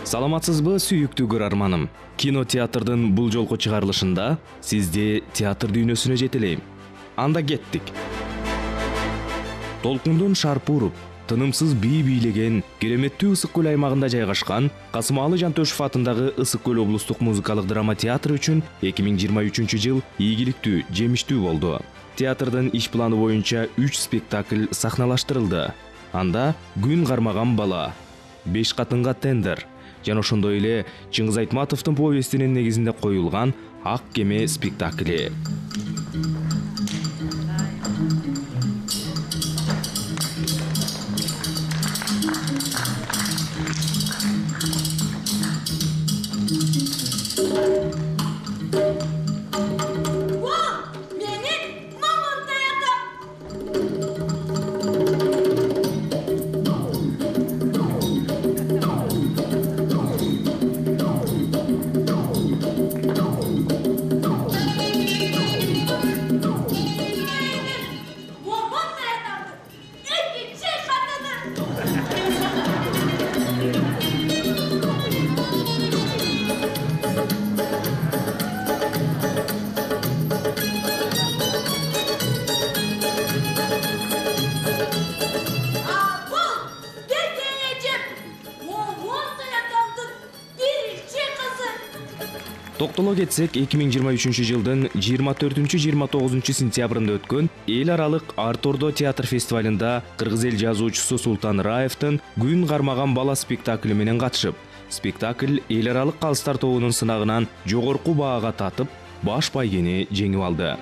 Саламатсызбы, сүйүктүү көрөрманым. Кинотеатрдын бул жолку чыгарылышында сизди театр дүйнөсүнө жетелейм. Анда кеттик. Толкундун шарпы уруп, тынымсыз бий бийлеген кереметтүү Ысык көл аймагында жайгашкан Касымалы Жантөшев атындагы Ысык көл облустук музыкалык драма театры үчүн 2023-жыл ийгиликтүү, жемиштүү болду. Театрдын иш планы боюнча 3 спектакль сахналаштырылды. Анда Күн кармаган бала, 5 катынга тендер жана ошондой эле Чыңгыз Айтматовдун повестинин негизинде коюлган Ак кеме спектакли. Токтоло кетсек, 2023-жылдын 24-29 сентябрында өткөн эл аралык Арт-Ордо театр фестивалында кыргыз эл жазуучусу Султан Раевдин Күн кармаган бала спектакли менен катышып, спектакль эл аралык калыстар тобунун сынагынан жогорку баага татып, баш байгени жеңип алды.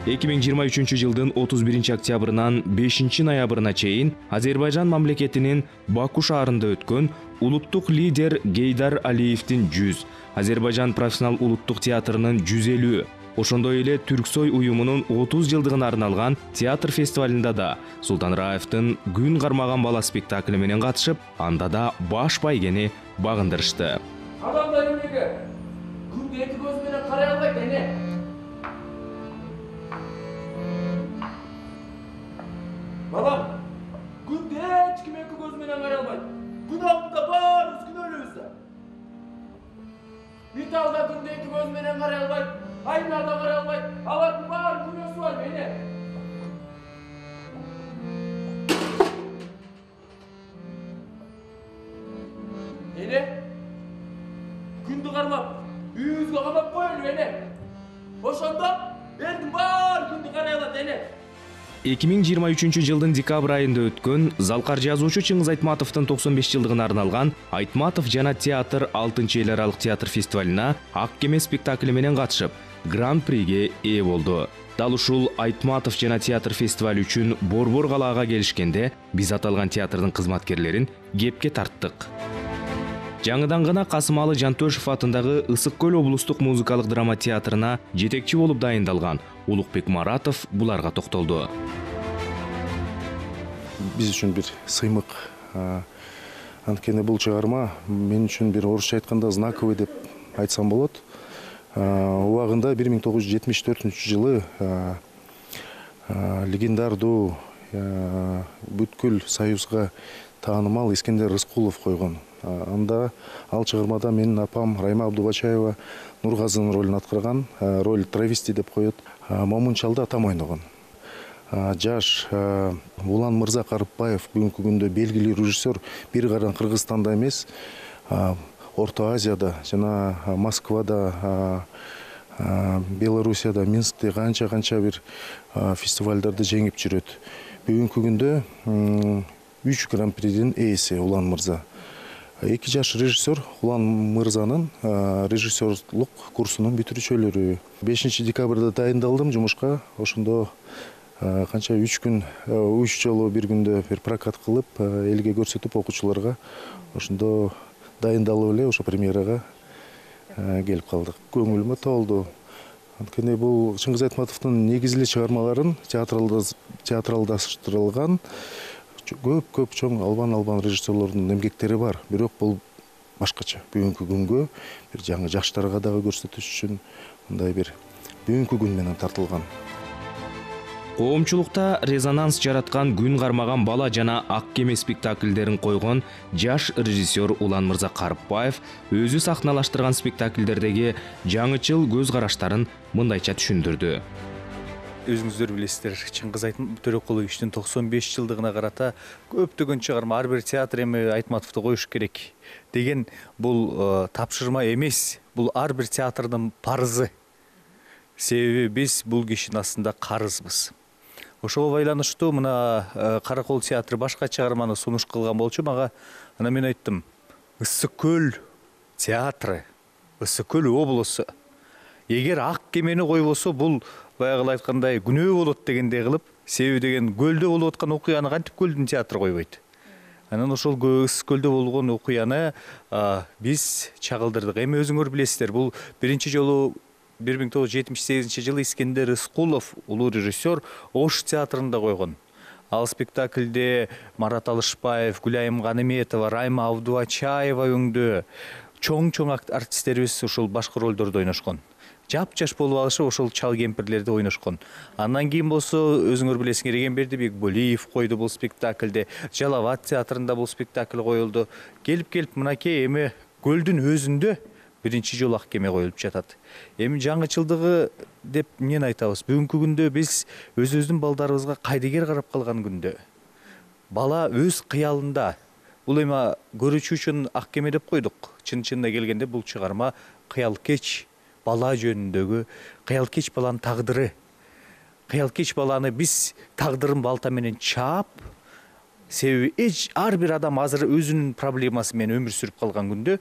Эки миң жыйырма үчүнчү жылдын 31 октябрынан 5 ноябрына чейин Азербайжан мамлекетинин Баку шаарында өткөн улуттук лидер Гейдар Алиевдин 100, Азербайжан профессионал улуттук театрынын 150, ошондой эле Түрксой уюмунун 30 жылдыгына арналган театр фестивалында да Султан Раевдин Күн кармаган бала спектакли менен катышып, анда да баш байгени багындырышты. Адамдар эмнеге күндү эки көз менен карай албайт эне? Балам, күндү эч ким эки көз менен карай албайт. Күн алдында баарыбыз күнөөлүүбүз да. Италда күндү эки көз менен карай албайт, айнада карай албайт. Алардын баары күнөөсү бар эне. Эне, күндү кармап, үйүбүзгө камап коелу эне. Ошондо элдин баары күндү карай алат эне. 2023-жылдын декабрь айында өткөн залкар жазуучу Чыңгыз Айтматовдун 95 жылдыгына арналган Айтматов жана театр 6 эл аралык театр фестивалына Ак кеме спектакли менен катышып, гран-приге ээ болду. Дал ушул Айтматов жана театр фестивали үчүн Борбор калаага келишкенде, биз аталган театрдын кызматкерлерин кепке тарттык. Жаңыдан гана Касымалы Жантөшев атындагы Ысык көл облустук музыкалык драма театрына жетекчи болуп дайындалган Улукбек Маратов буларга токтолду. Биз үчүн бир сыймык. Анткени бул чыгарма мен үчүн бир орусча айтканда знаковый деп айтсам болот. Убагында 1974-жылы легендардуу бүткүл союзга таанымал Искендер Рыскулов койгон. Анда ал чыгармада менин апам Райма Абдубачаева Нургазынын ролун аткарган, роль травести деп коет. Момунчалда атам ойногон. Жаш Улан Мырза Карыпбаев бүгүнкү күндө белгилүү режиссер бир гана Кыргызстанда эмес, Орто Азияда жана Москвада, Белоруссияда, Минскте канча бир фестивалдарды жеңип жүрөт. Бүгүнкү күндө 3 гран-придин ээси Улан Мырза. 2 жаш режиссер Улан Мырзанын режиссерлук курсунун бүтүрүүчүлөрү. 5 декабрда дайындалдым жумушка. Ошондо канча 3 күн, 3 жолу бир күндө бир прокат кылып, элге көрсөтүп окуучуларга ошондо дайындалып эле ошо премьерага келип калдык. Көңүлүмө толду. Анткени бул Чыңгыз Айтматовдун негизги чыгармаларын театралдаштырылган көп чоң албан режиссерлордун эмгектери бар. Бирок бул башкача. Бүгүнкү күнгө бир жаңы жаштарга дагы көрсөтүш үчүн мындай бир бүгүнкү күн менен тартылган. Коомчулукта резонанс жараткан Күн кармаган бала жана Ак кеме спектакльдерин койгон жаш режиссер Улан Мырза Карыпбаев өзү сахналаштырган спектакльдердеги жаңычыл көз караштарын мындайча түшүндүрдү. Өзүңүздөр билесиздер, Чыңгыз Төрөкуловичтин 95 жылдыгына карата көптөгөн чыгарма, ар бир театр эми Айтматовду коюш керек деген бул тапшырма эмес, бул ар бир театрдын парызы. Себеби биз бул кишинин астында карызбыз. Ошого байланыштуу мына Каракол театры башка чыгарманы сунуш кылган болчу мага. Анан мен айттым, Ысык көл театры, Ысык көл облусу эгер Ак кемени койбосо бул баягы айткандай күнөө болот дегендей кылып, себеби деген көлдө болуп аткан окуяны кантип көлдүн театры койбойт. Анан ошол Ысык көлдө болгон окуяны биз чагылдырдык. Эми өзүңөр билесиздер, бул биринчи жолу 1978 жылы Искендер Рыскулов, улуу режиссер, Ош театрында койгон. Ал спектакльде Марат Алышбаев, Гүлайым Ганиметова, Райма Абдубачаева өңдө чоң артисттерибиз ушул башкы ролдордо ойношкон. Жап-жаш болуп алышып ошол чал кемпирлерди ойношкон. Андан кийин болсо өзүңөр билесиңер, Эгемберди Бекболиев койду бул спектакльде. Жалал Абад театрында бул спектакль коюлду. Келип мынакей эми көлдүн өзүндө биринчи жолу Ак кеме коюлуп жатат. Эми жаңычылдыгы деп эмнени айтабыз? Бүгүнкү күндө биз өзүбүздүн балдарыбызга кайдыгер карап калган күндө. Бала өз кыялында. Бул эми көрүүчү үчүн Ак кеме деп койдук. Чын-чынына келгенде бул чыгарма кыялкеч бала жөнүндөгү, кыялкеч баланын тагдыры. Кыялкеч баланы биз тагдырын балта менен чаап, себеби ар бир адам азыр өзүнүн проблемасы менен өмүр сүрүп калган күндө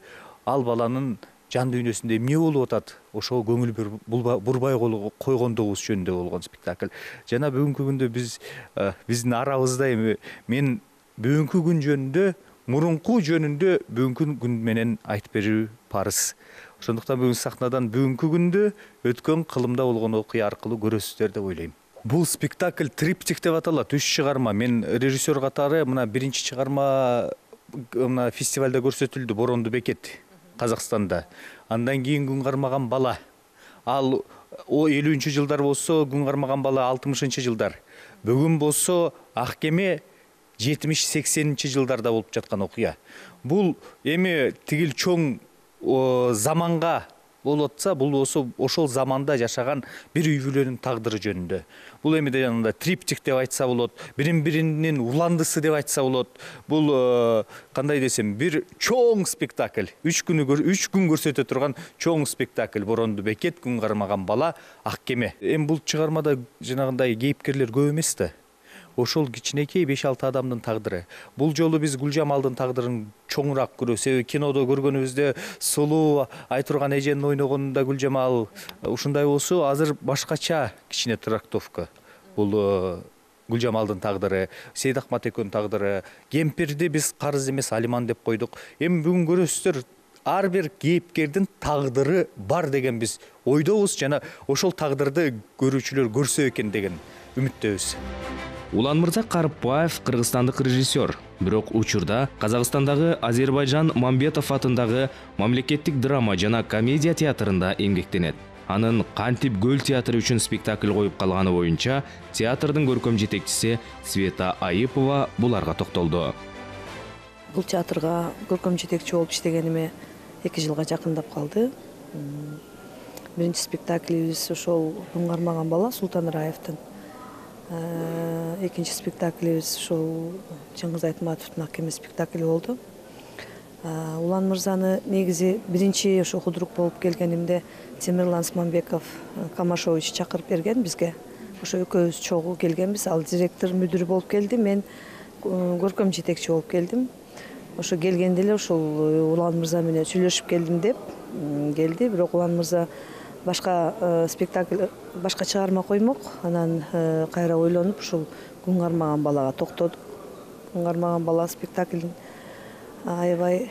ал баланын жан дүйнөсүндө эмне болуп атат, ошого көңүл бурбай койгондугубуз жөнүндө болгон спектакль. Жана бүгүнкү күндө биздин арабызда эми мен бүгүнкү күн жөнүндө, мурунку жөнүндө бүгүнкү күн менен айтып берүү парыз. Ошондуктан бүгүн сахнадан бүгүнкү күндө өткөн кылымда болгон окуя аркылуу көрөсүздөр деп ойлойм. Бул спектакль триптих деп аталат, 3 чыгарма. Мен режиссер катары мына биринчи чыгарма мына фестивалда көрсөтүлдү, Боронду бекет, Казакстанда. Андан кийин Күн кармаган бала. Ал 50-жылдар жылдар болсо, Күн кармаган бала 60 жылдар. Бүгүн болсо Ак кеме 70-80 жылдарда болуп жаткан окуя. Бул эми тигил чоң заманга болуп атса, бул болсо ошол заманда жашаган бир үй бүлөнүн тагдыры жөнүндө. Бул эми жанагындай триптих деп айтса болот, бирин-биринин уландысы деп айтса болот. Бул кандай десем, бир чоң спектакль, 3 күн көрсөтө турган чоң спектакль. Боронду бекет, Күн кармаган бала, Ак кеме. Эми бул чыгармада жанагындай кейипкерлер көп эмес да. Ошол кичинекей 5-6 адамдын тагдыры. Бул жолу биз Гүлжамалдын тагдырын чоңураак көрөбүз. Себеби кинодо көргөнүбүздө сулуу Айтурган эженин ойногонунда Гүлжамал ушундай болсо, азыр башкача кичине трактовка. Бул Гүлжамалдын тагдыры, Сейдахмат экөөнүн тагдыры. Кемпирди биз карыз эмес Алиман деп койдук. Эми бүгүн көрөсүздөр, ар бир кейипкердин тагдыры бар деген биз ойдобуз жана ошол тагдырды көрүүчүлөр көрсө экен деген үмүттөбүз. Улан Мырза Карыпбаев кыргызстандык режиссер, бирок учурда Казакстандагы Азербайжан Мамбетов атындагы мамлекеттик драма жана комедия театрында эмгектенет. Анын Кантип көл театры үчүн спектакль коюп калганы боюнча театрдын көркөм жетекчиси Света Айыпова буларга токтолду. Бул театрга көркөм жетекчи болуп иштегениме 2 жылга жакындап калды. Биринчи спектаклибиз ошол Күн кармаган бала Султан Раевдин. Экинчи спектаклибиз ошол Чыңгыз Айтматовдун Ак кеме спектакли болду. Улан Мырзаны негизи биринчи ошо худрук болуп келгенимде Темирлан Смамбеков Камашович чакырып берген бизге. Ошо экөөбүз чогуу келгенбиз. Ал директор, мүдүр болуп келди, мен көркөм жетекчи болуп келдим. Ошо келгенде эле ошол Улан Мырза менен сүйлөшүп келдим деп келди, бирок Улан Мырза башка спектакль, башка чыгарма коймок. Анан кайра ойлонуп ушул Күн кармаган балага токтодук. Күн кармаган бала спектаклин аябай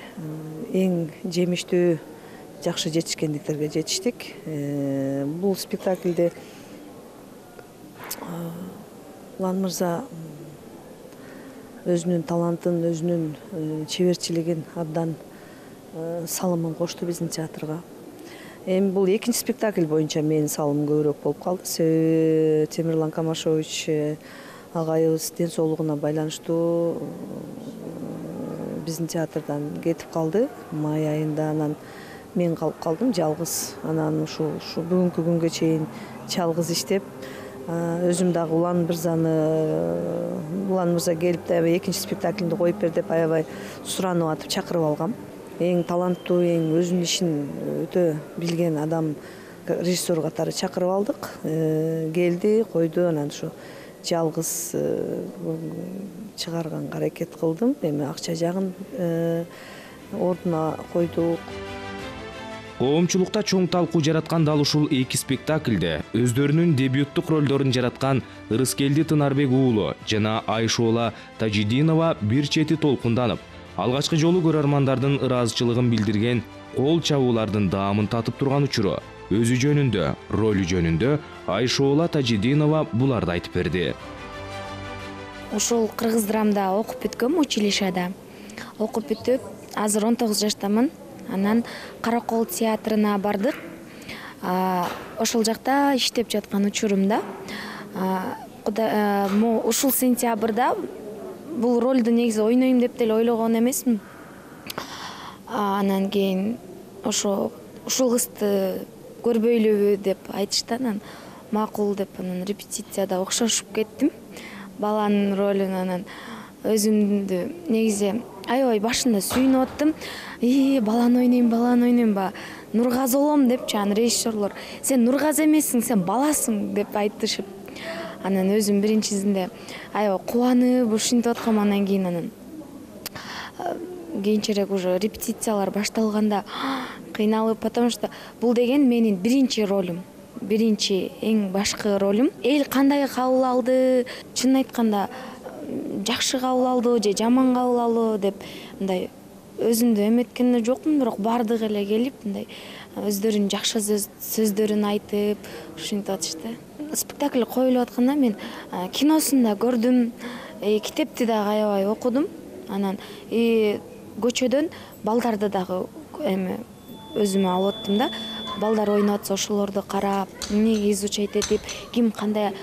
эң жемиштүү, жакшы жетишкендиктерге жетиштик. Бул спектакльде Улан Мырза өзүнүн талантын, өзүнүн чеберчилигин абдан салымын кошту биздин театрга. Эми бул экинчи спектакль боюнча менин салымым көбүрөөк болуп калды. Себеби Темирлан Камашович агайыбыз ден соолугуна байланыштуу биздин театрдан кетип калды май айында. Анан мен калып калдым жалгыз. Анан ушу бүгүнкү күнгө чейин жалгыз иштеп, өзүм дагы Улан Мырза келип да экинчи спектакльди коюп бер деп аябай суранып атып чакырып алгам. Эң таланттуу, эң өзүнүн ишин өтө билген адам, режиссер катары чакырып алдык. Келди, койду, анан ушу жалгыз чыгарганга аракет кылдым. Эми акча жагын ордуна койдук. Коомчулукта чоң талкуу жараткан дал ушул эки спектакльде өздөрүнүн дебюттук ролдорун жараткан Ырыскелди Тынарбек уулу жана Айшоола Тажидинова бир чети толкунданып, алгачкы жолу көрөрмандардын ыраазычылыгын билдирген кол чабуулардын даамын татып турган учуру өзү жөнүндө, ролу жөнүндө Айшоола Тажидинова буларды айтып берди. Ушул кыргыз драмда окуп бүткөм, училищада. Окуп бүтүп, азыр 19 жаштамын. Анан Каракол театрына бардык. Ошол жакта иштеп жаткан учурумда ушул сентябрда бул ролду негизи ойнойм деп деле ойлогон эмесмин. Анан кийин ушул кызды көрбөйлүбү деп айтышты. Анан макул деп анан репетицияда окшошуп кеттим баланын ролуна. Анан өзүмдү негизи аябай башында сүйүнүп аттым. Баланы ойнойм ба, Нургазы болом депчи анан режиссерлор. Сен Нургазы эмессиң, сен баласың деп айтышып. Анан өзүм биринчисинде аябай кубанып ушинтип аткам. Анан кийин кийинчерээк уже репетициялар башталганда кыйналып, потому что бул деген менин биринчи ролум. Биринчи эң башкы ролум. Эл кандай кабыл алды? Чынын айтканда жакшы кабыл алды же жаман кабыл алды деп мындай өзүмдү эметкен жокмун, бирок бардыгы эле келип мындай өздөрүнүн жакшы сөздөрүн айтып ушинтип атышты. Спектакль коюлуп атканда мен киносун да көрдүм, китепти дагы аябай окудум. Анан көчөдөн балдарды дагы эми өзүмө алып аттым да. Балдар ойноп атса ошолорду карап, эмнеге изучать этип, ким кандай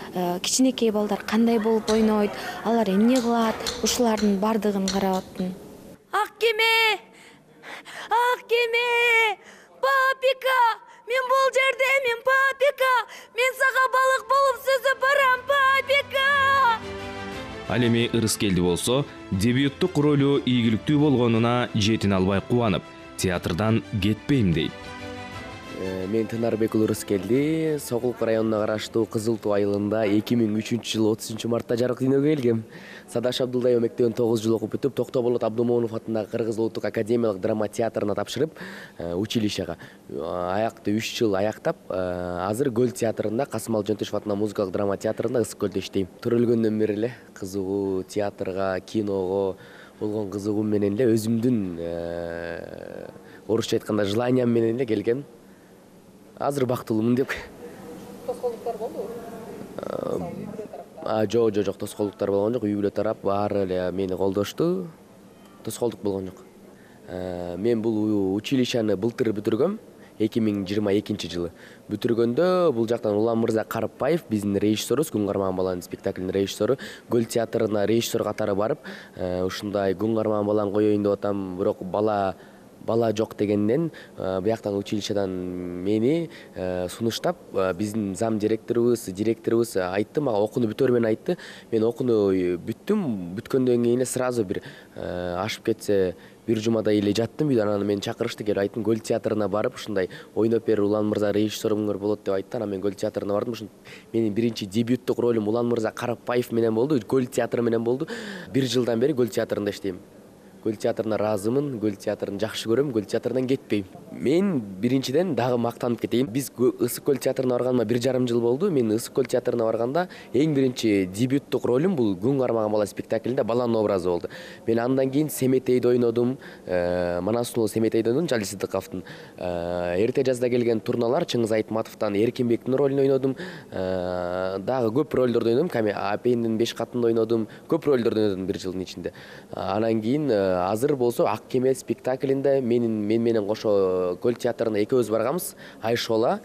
кичинекей балдар кандай болуп ойнойт, алар эмне кылат, ушулардын бардыгын карап аттым. Ак кеме! Папика! Мен бул жердемин, папика! Мен сага балык болуп сүзүп барам, папика! Ал эми Ырыскелди болсо, дебюттук ролу ийгиликтүү болгонуна жетине албай кубанып, театрдан кетпейм дейт. Мен Тынарбек уулу Ырыскелди, Сокулук районуна караштуу Кызыл Туу айылында 2003-жылы 30-мартта жарык дүйнөгө келгем. Садаш Абдулдаева мектебин 9 жыл окуп бүтүп, Токтоболот Абдумомунов атындагы Кыргыз улуттук академиялык драма театрына тапшырып, училищага аякты 3 жыл аяктап, азыр Көл театрында, Касымал Жөнтөшев атындагы музыкалык драма театрында Ысык Көлдө иштейм. Төрөлгөндөн бери эле кызыгуу театрга, киного болгон кызыгуум менен эле өзүмдүн орусча айтканда желаниям менен эле келгем. Азыр бактылуумун деп. Тоскоолдуктар болдубу? Жок, тоскоолдуктар болгон жок. Үй бүлө тарап баары эле мени колдошту. Тоскоолдук болгон жок. Мен бул училищаны былтыр бүтүргөм, 2022-жылы. Бүтүргөндө бул жактан Улан Мырза Карыпбаев, биздин режиссерубуз, Күн кармаган баланын спектаклинин режиссеру, Көл театрына режиссер катары барып, ушундай Күн кармаган баланы коеюн деп атам, бирок бала жок дегенден бияктан училищадан мени сунуштап, биздин зам директорубуз айтты, мага окууну бүтөр менен айтты. Мен окууну бүттүм, бүткөндөн кийин эле сразу бир ашып кетсе бир жумадай эле жаттым үйдө. Анан мени чакырышты, келип айттым, Көл театрына барып ушундай ойноп бер, Улан Мырза режиссеруңар болот деп айтты. Анан мен Көл театрына бардым. Ушун менин биринчи дебюттук ролум Улан Мырза Карыпбаев менен болду, Көл театры менен болду. 1 жылдан бери Көл театрында иштейм. Көл театрына ыраазымын, Көл театрын жакшы көрөм, Көл театрынан кетпейм. Мен биринчиден дагы мактанып кетейин. Биз Ысык Көл театрына барганыма 1,5 жыл болду. Мен Ысык Көл театрына барганда эң биринчи дебюттук ролум бул Күн кармаган бала спектаклинде баланын образы болду. Мен андан кийин Семетейди ойнодум, Манасулуу Семетейди ойнодум, Жали Сыдыковдун. Эрте жазда келген турналар Чыңгыз Айтматовдон Эркинбектин ролун ойнодум. Дагы көп ролдорду ойнодум. Апендин 5 катында ойнодум. Көп ролдорду ойнодум 1 жылдын ичинде. Анан кийин азыр болсо Ак кеме спектаклинде мен менен кошо Көл театрына экөөбүз барганбыз. Айшола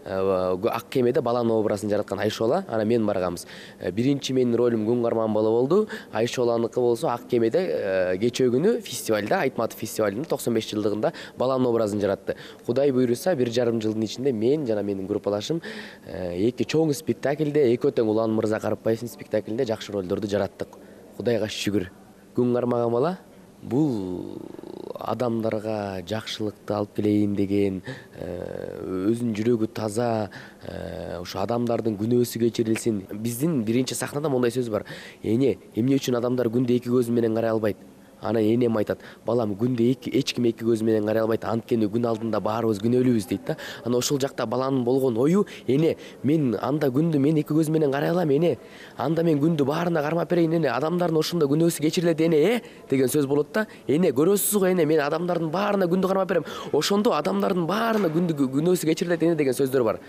Ак кемеде баланын образын жараткан Айшола, анан мен барганбыз. Биринчи менин ролум Күн кармаган бала болду. Айшоланыкы болсо Ак кемеде кечээ күнү фестивалда, Айтматов фестивалынын 95 жылдыгында баланын образын жаратты. Кудай буйруса 1,5 жылдын ичинде мен жана менин группалашым эки чоң спектакльде, экөө тең Улан Мырза Карыпбаевдин спектаклинде жакшы ролдорду жараттык. Кудайга шүгүр. Күн кармаган бала бул адамдарга жакшылыкты алып келейин деген, өзүнүн жүрөгү таза, ошо адамдардын күнөөсү кечирилсин. Биздин биринчи сахнада мондай сөз бар. Эмне үчүн адамдар күндө эки көзү менен карай албайт? Анан энем айтат, балам күндө эч ким эки көзү менен карай албайт, анткени күн алдында баарыбыз күнөөлүүбүз дейт да. Анан ошол жакта баланын болгон ою, мен анда күндү мен эки көзү менен карай алам, анда мен күндү баарына кармап берейин, адамдардын ошондо күнөөсү кечирилет, деген сөз болот да. Көрөсүз го, мен адамдардын баарына күндү кармап берем, ошондо адамдардын баарына күндү күнөөсү кечирилет деген сөздөр бар.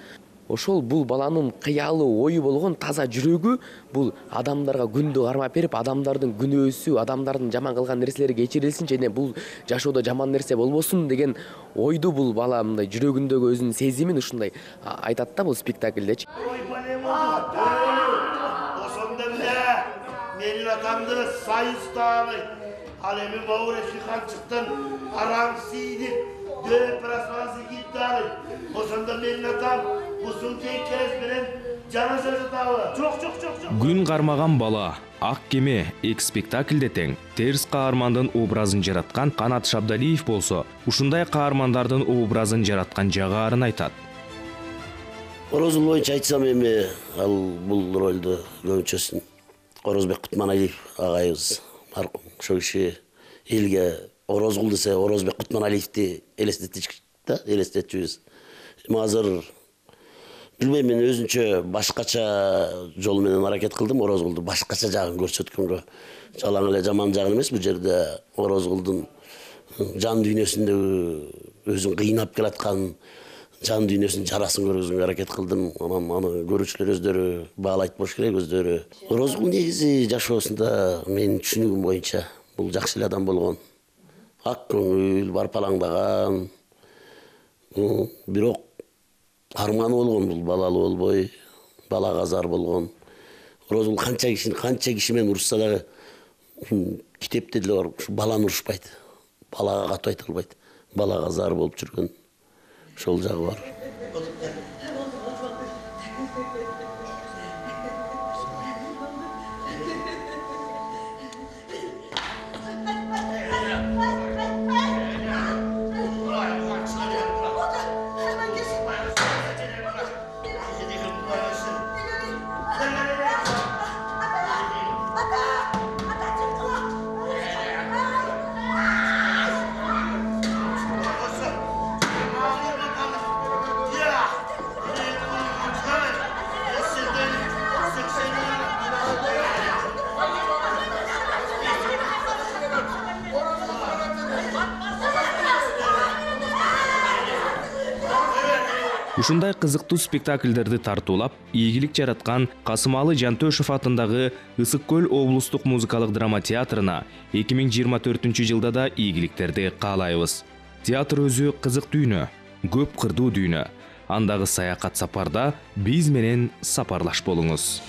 Ошол бул баланын кыялы ою болгон таза жүрөгү, бул адамдарга күндү кармап берип, адамдардын күнөөсү, адамдардын жаман кылган нерселери кечирилсин, жана бул жашоодо жаман нерсе болбосун деген ойду бул бала мындай жүрөгүндөгү өзүнүн сезимин ушундай айтат да бул спектакльдечи. Ошондо эле менин атамды Сайыстабай, ал эми Бауре Шиханчыктын Арам Сийдик просвансы гитары. Ошондо менин атам ушул кез менен жаназа жатабы? Жок. Күн кармаган бала Ак кеме спектакльде тең терс каармандын образын жараткан Канат Шабдалиев болсо, ушундай каармандардын образын жараткан жагарын айтат. Орозул боюнча айтсам эми ал бул ролду көбүнчөсүн Орозбек Кутманалиев агайыбыз маркум. Ошол киши элге Орозгул десе Орозбек Кутманалиевди элестетчүбүз. Азыр билбейм, мен өзүнчө башкача жол менен аракет кылдым, Орозгулду башкача жагын көрсөткөнгө. Жалаң эле жаман жагын эмес, бул жерде Орозгулдун жан дүйнөсүндөгү өзүн кыйнап келаткан жан дүйнөсүнүн жарасын көргөзгөнгө аракет кылдым. Анан аны көрүүчүлөр өздөрү баалайт болуш керек, өздөрү. Орозгул негизи жашоосунда менин түшүнүгүм боюнча бул жакшы эле адам болгон. Ак көңүл, барпалаңдаган, бирок арманы болгон, бул балалуу болбой, балагазар болгон. Орозгул канча киши менен урушса дагы китепте деле бар, баланы урушпайт, балага катуу айта албайт, балагазар болуп жүргөн, ошол жагы бар. Ушундай кызыктуу спектакльдерди тартуулап, ийгилик жараткан Касымалы Жантөшев атындагы Ысык көл облустук музыкалык драма театрына 2024-жылда да ийгиликтерди каалайбыз. Театр өзү кызык дүйнө, көп кырдуу дүйнө. Андагы саякат сапарда биз менен сапарлаш болуңуз.